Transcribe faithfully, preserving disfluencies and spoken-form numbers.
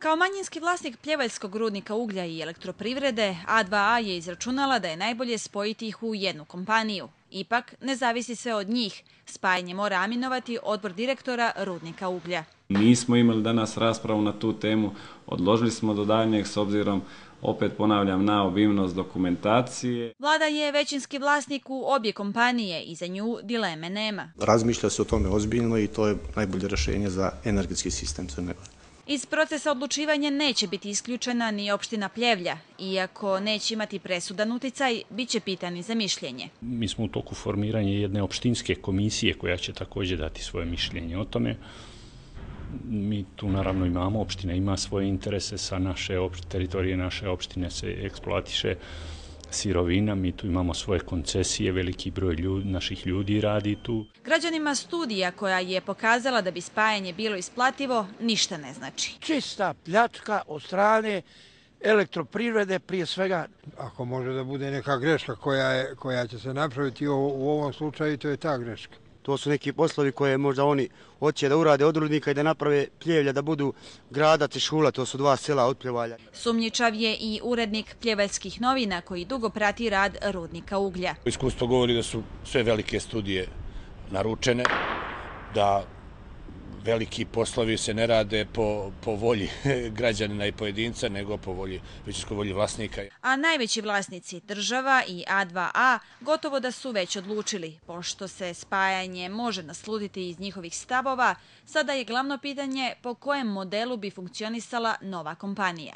Kao manjinski vlasnik pljevaljskog rudnika uglja i elektroprivrede, A dva A je izračunala da je najbolje spojiti ih u jednu kompaniju. Ipak, ne zavisi sve od njih. Spajanje mora aminovati odbor direktora rudnika uglja. Nismo imali danas raspravu na tu temu, odložili smo do daljnjeg s obzirom, opet ponavljam, na obimnost dokumentacije. Vlada je većinski vlasnik u obje kompanije i za nju dileme nema. Razmišlja se o tome ozbiljno i to je najbolje rješenje za energetski sistem Crne Gore. Iz procesa odlučivanja neće biti isključena ni opština Pljevlja. Iako neće imati presudan uticaj, bit će pitani za mišljenje. Mi smo u toku formiranja jedne opštinske komisije koja će također dati svoje mišljenje o tome. Mi tu naravno imamo, opština ima svoje interese, sa naše teritorije naše opštine se eksploatiše sirovina, mi tu imamo svoje koncesije, veliki broj ljudi, naših ljudi radi tu. Građanima studija koja je pokazala da bi spajanje bilo isplativo ništa ne znači. Čista pljačka od strane elektroprivrede prije svega. Ako može da bude neka greška koja, je, koja će se napraviti u, u ovom slučaju, to je ta greška. To su neki poslovi koje možda oni hoće da urade od rudnika i da naprave Pljevlja, da budu Gradac i Šula, to su dva sela od Pljevalja. Sumnjičav je i urednik Pljevaljskih novina koji dugo prati rad rudnika uglja. Iskustvo govori da su sve velike studije naručene, da veliki poslovi se ne rade po, po volji građanina i pojedinca, nego po volji, većinskoj volji vlasnika. A najveći vlasnici, država i A dva A, gotovo da su već odlučili. Pošto se spajanje može naslutiti iz njihovih stavova, sada je glavno pitanje po kojem modelu bi funkcionisala nova kompanija.